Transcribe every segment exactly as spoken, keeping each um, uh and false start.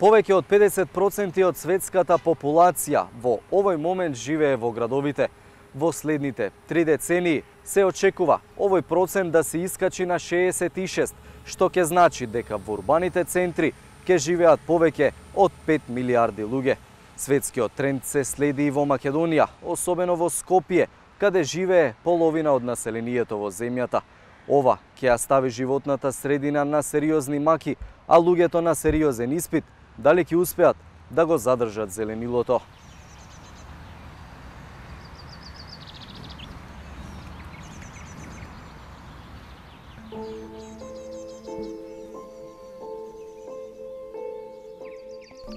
Повеќе од педесет проценти од светската популација во овој момент живее во градовите. Во следните три децении се очекува овој процент да се искачи на шеесет и шест, што ќе значи дека во урбаните центри ќе живеат повеќе од пет милиарди луѓе. Светскиот тренд се следи и во Македонија, особено во Скопје, каде живее половина од населението во земјата. Ова ќе ја стави животната средина на сериозни маки, а луѓето на сериозен испит, дали ќе успеат да го задржат зеленилото.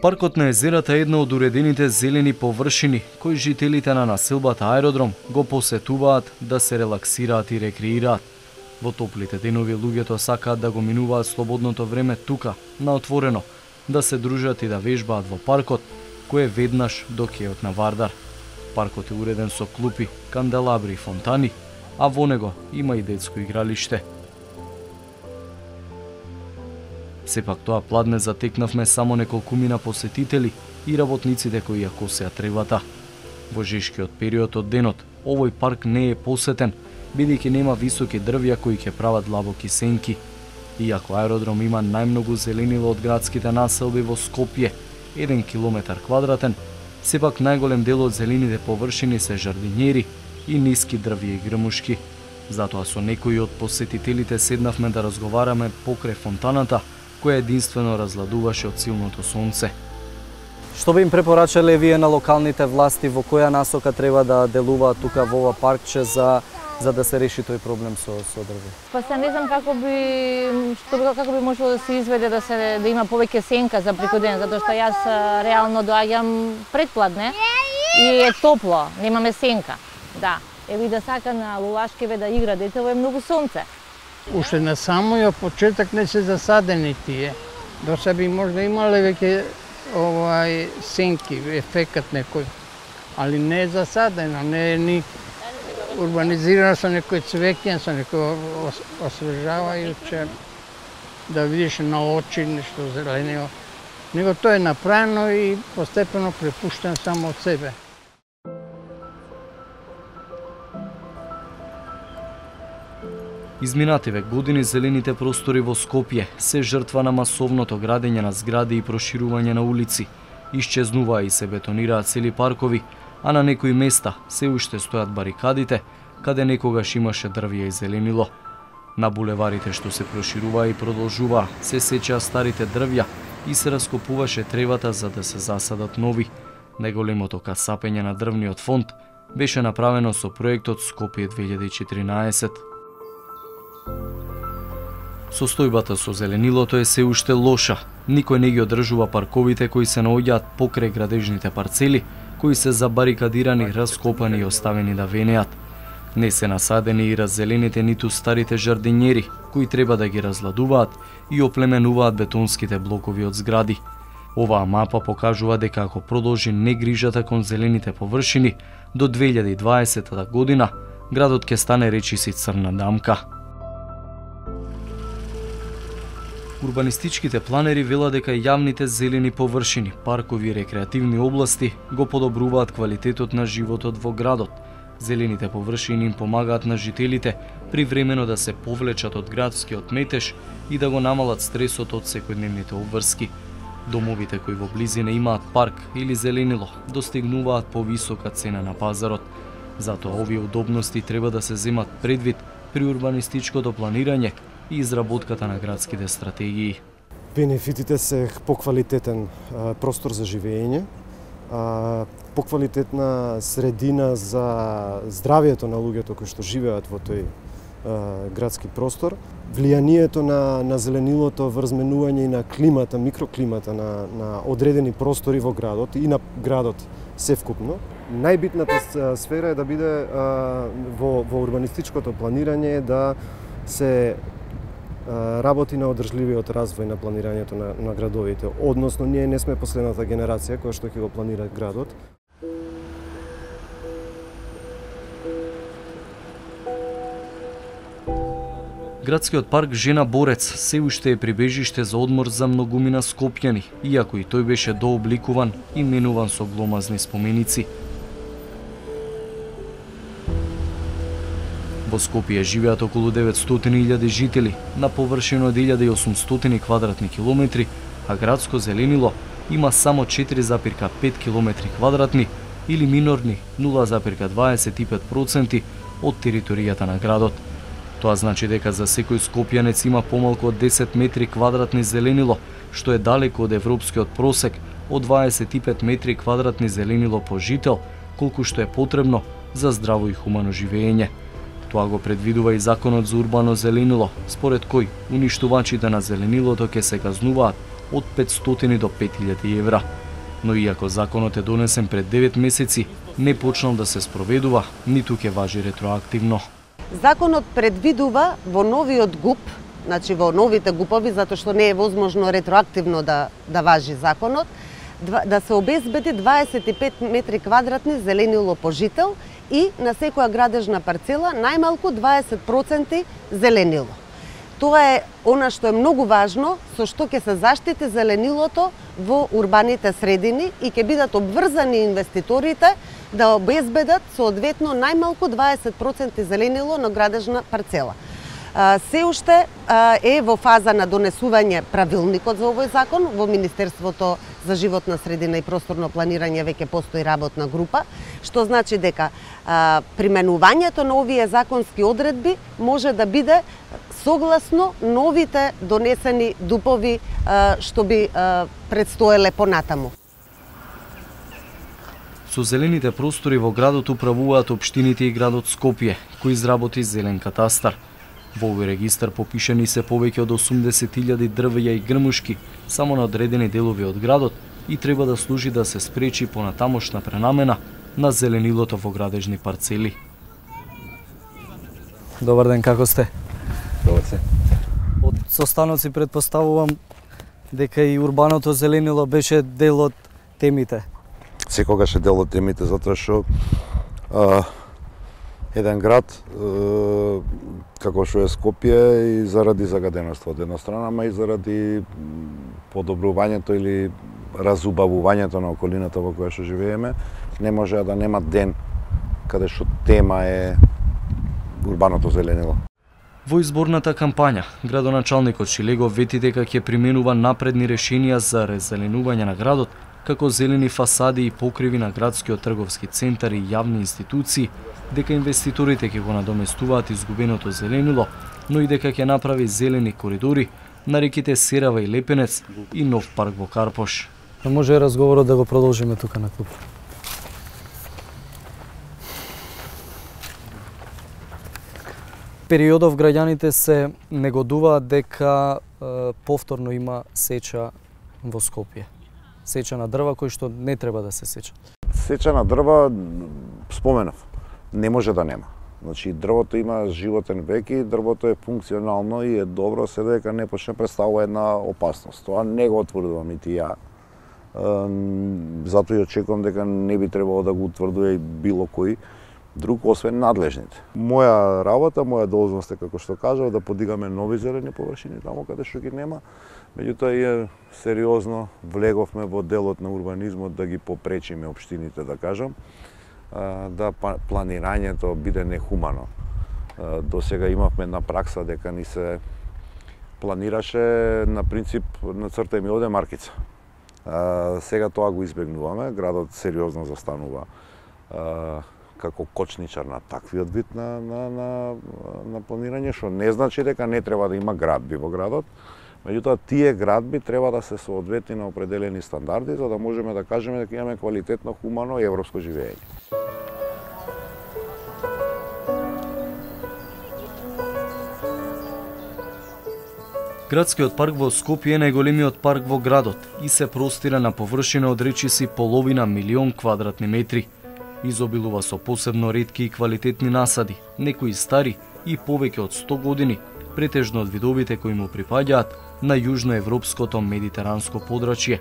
Паркот на езерата е една од уредените зелени површини кои жителите на населбата Аеродром го посетуваат да се релаксираат и рекреираат. Во топлите денови луѓето сакаат да го минуваат слободното време тука, на отворено, да се дружат и да вежбаат во паркот, кој е веднаш до кејот на Вардар. Паркот е уреден со клупи, канделабри и фонтани, а во него има и детско игралиште. Сепак тоа пладне затекнавме само неколкумина посетители и работниците кои ја косеа тревата. Во жешкиот период од денот, овој парк не е посетен, бидејќи нема високи дрвја кои ќе прават длабоки сенки. Иако Аеродром има најмногу зеленило од градските населби во Скопје, еден километар квадратен, сепак најголем дел од зелените површини се жардинјери и ниски дрвја и грмушки. Затоа со некои од посетителите седнавме да разговараме покрај фонтаната, која единствено разладуваше од силното сонце. Што би им препорачале вие на локалните власти, во која насока треба да делуваат тука во ова паркче за за да се реши тој проблем со со дрве? Па се не знам како би што како би можело да се изведе да се да има повеќе сенка за прикоден, затоа што јас реално доаѓам предпладне и е топло, немаме сенка. Да, еви да сака на Лулашкеве да игра детево е многу сонце. Уште на самиот почеток не се засадени тие. До сега би можда имале веќе овај сенки, ефекат некој. Али не е засадено, не е ни урбанизирано со некој цвеќе, со некој освежавајуче, да видиш на очи нешто зеленио. Него тоа е направено и постепено препуштено само од себе. Изминативе години зелените простори во Скопје се жртва на масовното градење на згради и проширување на улици. Исчезнуваа и се бетонираат цели паркови, а на некои места се уште стојат барикадите, каде некогаш имаше дрвја и зеленило. На булеварите што се прошируваа и продолжуваа, се сечеа старите дрвја и се раскопуваше тревата за да се засадат нови. Најголемото касапење на дрвниот фонд беше направено со проектот Скопје две илјади и четиринаесет. Состојбата со зеленилото е се уште лоша. Никој не ги одржува парковите кои се наоѓаат покрај градежните парцели, кои се забарикадирани, раскопани и оставени да венеат. Не се насадени и раззелените ниту старите жардинјери, кои треба да ги разладуваат и оплеменуваат бетонските блокови од згради. Оваа мапа покажува дека ако продолжи негрижата кон зелените површини, до две илјади и дваесета година градот ќе стане речиси црна дамка. Урбанистичките планери велат дека јавните зелени површини, паркови и рекреативни области го подобруваат квалитетот на животот во градот. Зелените површини им помагаат на жителите привремено да се повлечат од градскиот метеж и да го намалат стресот од секојдневните обврски. Домовите кои во близина имаат парк или зеленило достигнуваат повисока цена на пазарот. Затоа овие удобности треба да се земат предвид при урбанистичкото планирање и изработката на градските стратегии. Бенефитите се поквалитетен простор за живење, поквалитетна средина за здравието на луѓето кои што живеат во тој градски простор, влијанието на, на зеленилото врз менување и на климата, микроклимата на, на одредени простори во градот и на градот севкупно. Најбитната сфера е да биде во, во урбанистичкото планирање да се работи на одржливиот развој на планирањето на, на градовите. Односно, ние не сме последната генерација која што ќе го планира градот. Градскиот парк Жена Борец се уште е прибежиште за одмор за многумина скопјани, иако и тој беше дообликуван и менуван со гломазни споменици. Во Скопје живеат околу деветстотини илјади жители на површина од илјада и осумстотини квадратни километри, а градско зеленило има само четири запирка пет километри квадратни или минорни нула запирка дваесет и пет проценти од територијата на градот. Тоа значи дека за секој скопјанец има помалку од десет метри квадратни зеленило, што е далеку од европскиот просек од дваесет и пет метри квадратни зеленило по жител, колку што е потребно за здраво и хумано живење. Тоа го предвидува и законот за урбано зеленило, според кој уништувачите на зеленилото ќе се казнуваат од петстотини до пет илјади евра. Но иако законот е донесен пред девет месеци, не почнал да се спроведува, ниту ќе важи ретроактивно. Законот предвидува во новиот ГУП, значи во новите ГУПови, затоа што не е возможно ретроактивно да, да важи законот, да се обезбеди дваесет и пет метри квадратни зеленило по жител и на секоја градежна парцела најмалку дваесет проценти зеленило. Тоа е она што е многу важно, со што ќе се заштити зеленилото во урбаните средини и ќе бидат обврзани инвеститорите да обезбедат соодветно најмалку дваесет проценти зеленило на градежна парцела. Се уште е во фаза на донесување правилникот за овој закон. Во Министерството за животна средина и просторно планирање веќе постои работна група, што значи дека применувањето на овие законски одредби може да биде согласно новите донесени ДУПови што би предстоеле понатаму. Со зелените простори во градот управуваат општините и градот Скопје, кој изработи зелен катастар. Во овој регистар попишани се повеќе од осумдесет илјади дрвеја и грмушки само на одредени делови од градот и треба да служи да се спречи понатамошна пренамена на зеленилото во градежни парцели. Добар ден, како сте? Добар се. Од состаноци предпоставувам дека и урбаното зеленило беше дел од темите. Секогаш е дел од темите, затоа што а, еден град а, како што е Скопје и заради загаденоста од една страна, ама и заради подобрувањето или разубавувањето на околината во која што живееме, не може да нема ден каде што тема е урбаното зеленило. Во изборната кампања, градоначалникот Шилегов вети дека ќе применува напредни решенија за резеленување на градот, како зелени фасади и покриви на градскиот трговски центар и јавни институции, дека инвеститорите ќе го надоместуваат изгубеното зеленило, но и дека ќе направи зелени коридори на реките Серава и Лепенец и нов парк во Карпош. Може разговорот да го продолжиме тука на клуб. Периодов граѓаните се негодуваат дека е, повторно има сеча во Скопје. Сеча на дрва кој што не треба да се сеча. Сеча на дрва, споменав, не може да нема. Значи, дрвото има животен век и дрвото е функционално и е добро, се дека не почне представува една опасност. Тоа не го отврдувам и ти ја. Затоа и очекувам дека не би требало да го утврдува и било кој друг, освен надлежните. Моја работа, моја должност е, како што кажав, да подигаме нови зелени површини таму каде што ги нема. Меѓутоа и сериозно влеговме во делот на урбанизмот да ги попречиме општините, да кажам, да планирањето биде нехумано. До сега имавме една пракса дека ни се планираше на принцип на црта ми оде маркица. Сега тоа го избегнуваме, градот сериозно застанува како кочничар на таквиот вид на, на, на, на планирање, што не значи дека не треба да има градби во градот, меѓутоа тие градби треба да се соодветни на определени стандарди, за да можеме да кажеме дека имаме квалитетно, хумано и европско живење. Градскиот парк во Скопје е најголемиот парк во градот и се простира на површина од речиси половина милион квадратни метри. Изобилува со посебно ретки и квалитетни насади, некои стари и повеќе од сто години, претежно од видовите кои му припаѓаат на јужноевропското медитеранско подрачје.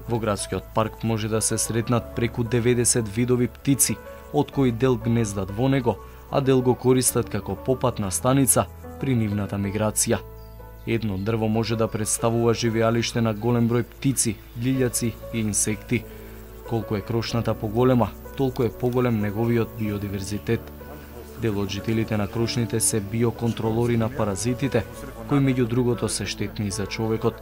Во градскиот парк може да се сретнат преку деветдесет видови птици, од кои дел гнездат во него, а дел го користат како попатна станица при нивната миграција. Едно дрво може да представува живеалиште на голем број птици, лилјаци и инсекти. Колку е крошната поголема, толку е поголем неговиот биодиверзитет. Дел од жителите на крошните се биоконтролори на паразитите, кои меѓу другото се штетни за човекот.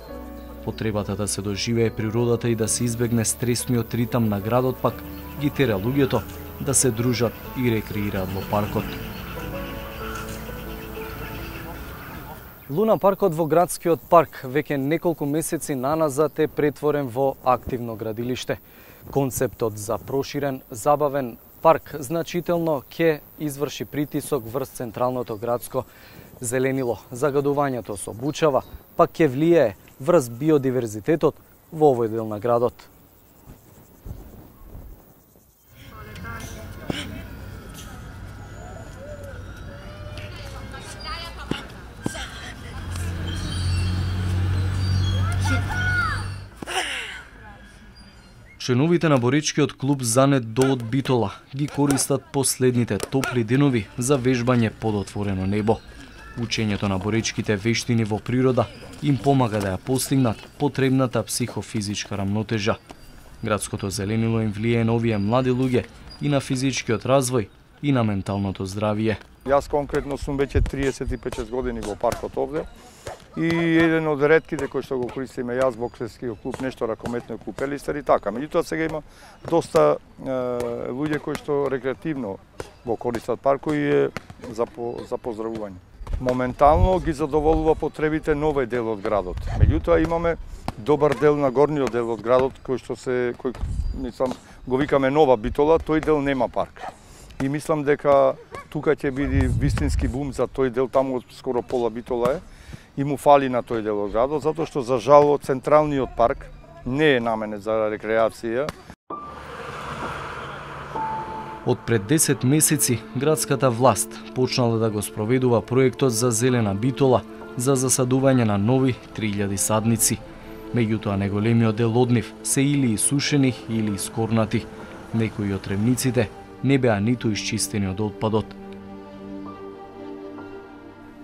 Потребата да се доживее природата и да се избегне стресниот ритам на градот пак ги тера луѓето да се дружат и рекреираат во паркот. Луна паркот во градскиот парк веќе неколку месеци наназад е претворен во активно градилиште. Концептот за проширен, забавен парк значително ќе изврши притисок врз централното градско зеленило. Загадувањето со бучава пак ќе влијае врз биодиверзитетот во овој дел на градот. Членовите на боречкиот клуб Занет до од Битола ги користат последните топли денови за вежбање под отворено небо. Учењето на боречките вештини во природа им помага да ја постигнат потребната психофизичка рамнотежа. Градското зеленило им влијае на овие млади луѓе и на физичкиот развој и на менталното здравје. Јас конкретно сум веќе триесет и пет години во паркот овде и еден од ретките кои што го користиме јас, боксерскиот клуб, нешто ракометниот клуб Елистер и така. Меѓутоа сега има доста е, луѓе кои што рекреативно го користат паркот и е за, по, за поздравување. Моментално ги задоволува потребите на овој дел од градот. Меѓутоа имаме добар дел на горниот дел од градот кој што се кој мислам го викаме Нова Битола, тој дел нема парк. И мислам дека тука ќе биде вистински бум за тој дел, таму скоро пола Битола е и му фали на тој дел од градот, затоа што за жал централниот парк не е наменет за рекреација. Од пред десет месеци градската власт почнала да го спроведува проектот за зелена Битола за засадување на нови три илјади садници. Меѓутоа неголемиот дел од нив се или исушени или искорнати. Некои од тревниците не беа ниту исчистени од отпадот.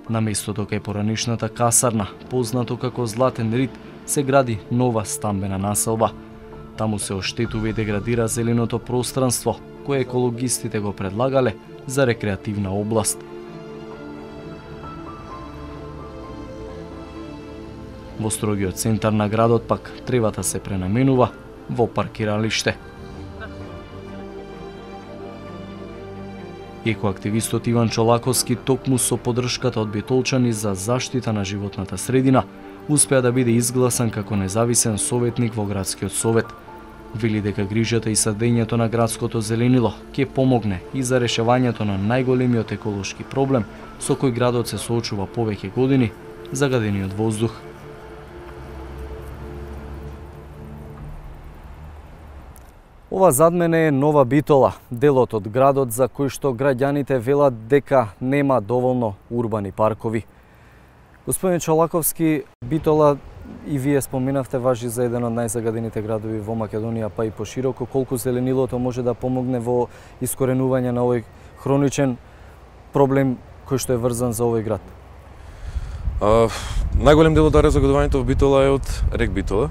На местото кај поранешната касарна, познато како Златен Рид, се гради нова стамбена населба. Таму се оштетува и деградира зеленото пространство, кое екологистите го предлагале за рекреативна област. Во строгиот центар на градот пак тревата се пренаменува во паркиралиште. Екоактивистот Иван Чолаковски токму со поддршката од битолчани за заштита на животната средина успеа да биде изгласан како независен советник во градскиот совет. Вели дека грижата и садењето на градското зеленило ќе помогне и за решавањето на најголемиот еколошки проблем со кој градот се соочува повеќе години, загадениот воздух. Ова зад мене е Нова Битола, делот од градот за кој што граѓаните велат дека нема доволно урбани паркови. Господин Чолаковски, Битола и вие споменавте важи за еден од најзагадените градови во Македонија, па и пошироко. Колку зеленилото може да помогне во искоренување на овој хроничен проблем кој што е врзан за овој град? А, најголем дел од загадувањето во Битола е од рек Битола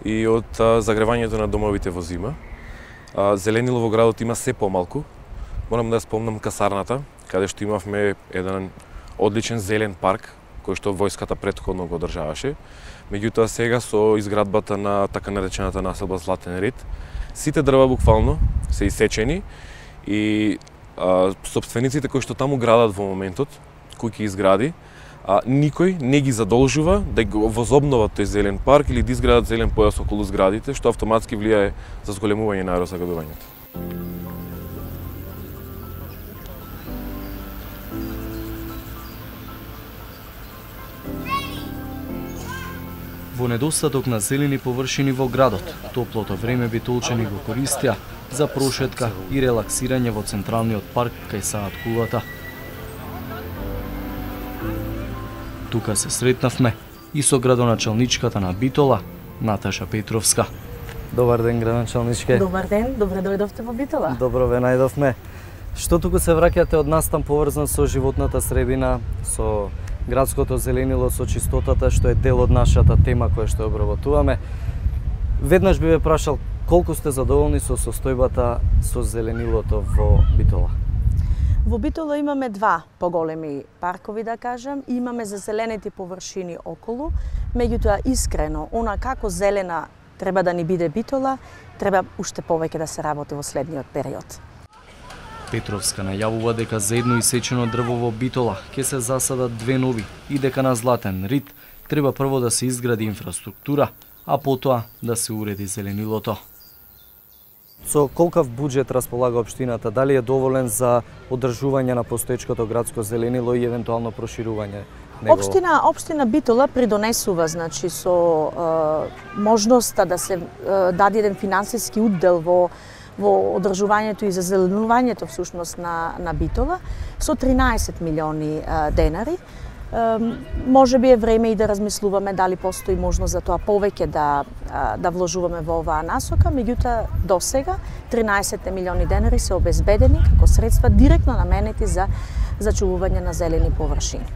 и од а, загревањето на домовите во зима. А, зеленило во градот има се помалку. Морам да спомнам касарната, каде што имавме еден одличен зелен парк, кој што војската претходно го одржаваше. Меѓутоа сега со изградбата на така наречената населба Златен Рид, сите дрва буквално се исечени и а, собствениците кои што таму градат во моментот, кои ќе изгради, а, никој не ги задолжува да го возобноват тој зелен парк или да изградат зелен појас околу зградите, што автоматски влијае за зголемување на аерозагадувањето. Во недостаток на зелени површини во градот, топлото време битолчани го користија за прошетка и релаксирање во централниот парк кај Саат Кулата. Тука се сретнавме и со градоначалничката на Битола, Наташа Петровска. Добар ден, градоначалничке. Добар ден, добре дојдовте во Битола. Добро ве најдовме. Што туку се враќате од настан поврзан со животната средина, со градското зеленило, со чистотата, што е дел од нашата тема која што обработуваме. Веднаш би ве прашал колку сте задоволни со состојбата со зеленилото во Битола? Во Битола имаме два поголеми паркови, да кажем, и имаме зазеленети површини околу. Меѓутоа, искрено, она како зелена треба да ни биде Битола, треба уште повеќе да се работи во следниот период. Петровска најавува дека за едно исечено дрво во Битола ќе се засадат две нови и дека на Златен Рид треба прво да се изгради инфраструктура, а потоа да се уреди зеленилото. Со колкав буџет располага општината? Дали е доволен за одржување на постоечкото градско зеленило и евентуално проширување негово? Општина, општина Битола придонесува, значи, со е, можноста да се е, даде еден финансиски уддел во во одржувањето и зазеленувањето всушност на на Битола со тринаесет милиони е, денари. Може би е време и да размислуваме дали постои можност за тоа повеќе да да вложуваме во оваа насока, меѓутоа до сега тринаесет милиони денари се обезбедени како средства директно наменети за зачувување на зелени површини.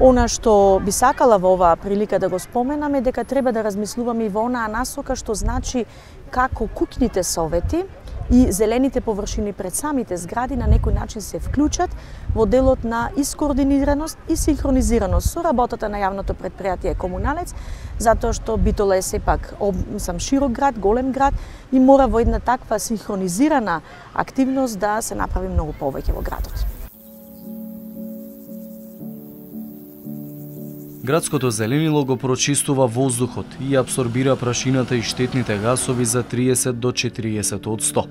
Она што би сакала во оваа прилика да го споменам е дека треба да размислуваме и во онаа насока што значи како куќните совети и зелените површини пред самите згради на некој начин се вклучат во делот на искоординираност и синхронизираност со работата на јавното предпријатие Комуналец, затоа што Битола е сепак сам широк град, голем град и мора во една таква синхронизирана активност да се направи многу повеќе во градот. Градското зеленило го прочистува воздухот и абсорбира прашината и штетните гасови за триесет до четириесет одсто.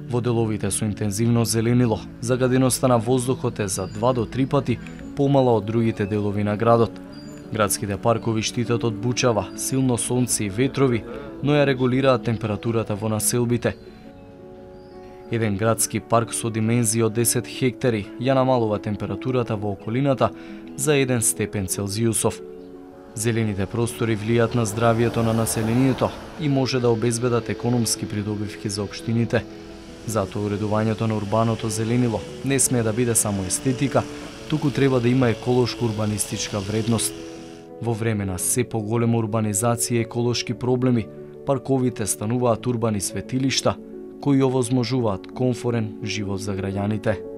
Во деловите со интензивно зеленило, загаденоста на воздухот е за два до три пати помала од другите делови на градот. Градските паркови штитат од бучава, силно сонце и ветрови, но ја регулираат температурата во населбите. Еден градски парк со димензија од десет хектари ја намалува температурата во околината за еден степен Целзиусов. Зелените простори влијаат на здравието на населението и може да обезбедат економски придобивки за општините. Затоа уредувањето на урбаното зеленило не смее да биде само естетика, туку треба да има еколошко-урбанистичка вредност. Во време на се поголема урбанизација и еколошки проблеми, парковите стануваат урбани светилишта кои овозможуваат комфорен живот за граѓаните.